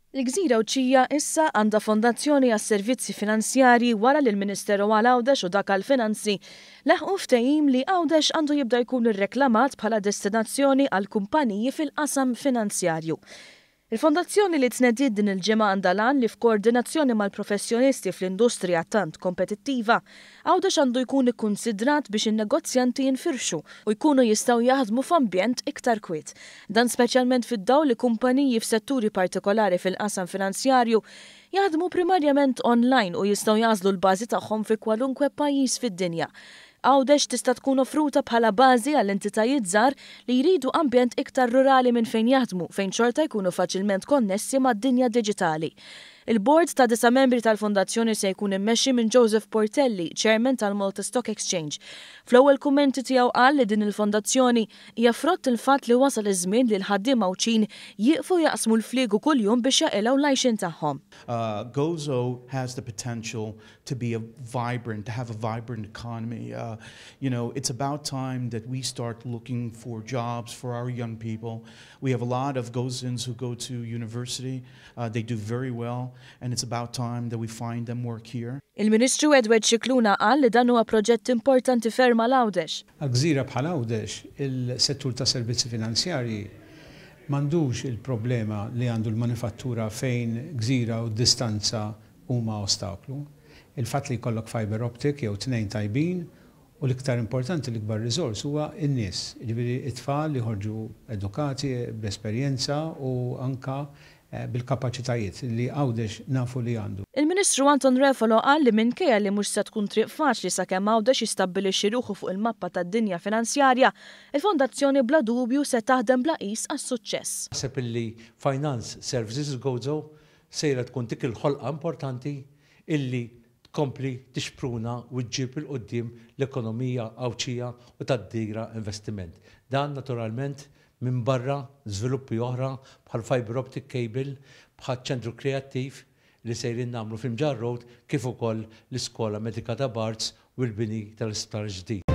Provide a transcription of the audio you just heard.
Il-Gżira Għawdxija issa għandha fondazzjoni għas-servizzi finanzjarji wara li l-Ministeru għal Għawdex u dak għall-Finanzi laħqu ftehim li Għawdex għandu jibda jkun irreklamat bħala destinazzjoni għall-kumpaniji fil-qasam finanzjarju. Il-fondazzjoni li tnediet din il-ġimgħa għandha l-għan li f'koordinazzjoni mal-professjonisti fl-industrija tant kompetittiva, Għawdex għandu jkun ikkunsidrat biex in-negozjanti jinfirxu u jkunu jistgħu jaħdmu f'ambjent iktar kwiet. Dan speċjalment fid-dawl li kumpaniji f'setturi partikolari fil-qasam finanzjarju jaħdmu primarjament online u jistgħu jagħżlu l-bażi tagħhom fi kwalunkwe pajjiż fid-dinja. Għawdex tista' tkun offruta bħala bażi għal entitajiet żgħar li jridu ambjent iktar rurali minn fejn jaħdmu fejn xorta jkunu faċilment konnessi mad-dinja diġitali. Il-bord ta' disa' membri tal-fondazzjoni se jkun immexxi minn Joseph Portelli, Chairman tal-Malta Stock Exchange. Fl-ewwel kummenti tiegħu qal li din il-fondazzjoni hija frott il-fatt li wasal iż-żmien li l-ħaddiema Għawdxin jieqfu jaqsmu l-fliegu kuljum biex jaqilgħu l-għajxien tagħhom. Gozo has the potential to be a vibrant, to have a vibrant economy. It's about time that we start looking for jobs for our young people. We have a lot of Gozans who go to university. They do very well, and it's about time that we find them work here. Il-Ministru Edward Scicluna qal li dan huwa proġett importanti ferm għal Għawdex. Għal gżira bħal Għawdex, il-settur tas-servizzi finanzjarji m'għandux il-problema li għandu l-manifattura fejn gżira u d-distanza huma ostaklu. Il-fatt li jkollok fibre optic jew tnejn tajbin u l-iktar importanti l-ikbar riżors huwa n-nies, jiġifieri t-tfal li joħorġu edukati, bl-esperjenza u anke bil-kapaċitajiet li Għawdex nafu li għandu. Il-Ministru Anton Refalo qal li minkejja li mhux se tkun triq faċli sakemm Għawdex jistabbilixxi ruħu fuq il-mappa tad-dinja finanzjarja, il-Fondazzjoni bla dubju se taħdem bla qis għas-suċċess. Naħseb illi Finance Services Gozo sejra tkun dik il-ħolqa importanti illi tkompli tixpruna u ġġib 'il quddiem l-ekonomija Għawdxija u tattira investiment. Dan naturalment minbarra żviluppi oħra bħal fibre optic cable, bħaċ-ċentru kreattiv li sejrin nagħmlu f'Imġarr Road kif ukoll l-iskola medika ta' Barts u l-bini tal-isptar ġdid.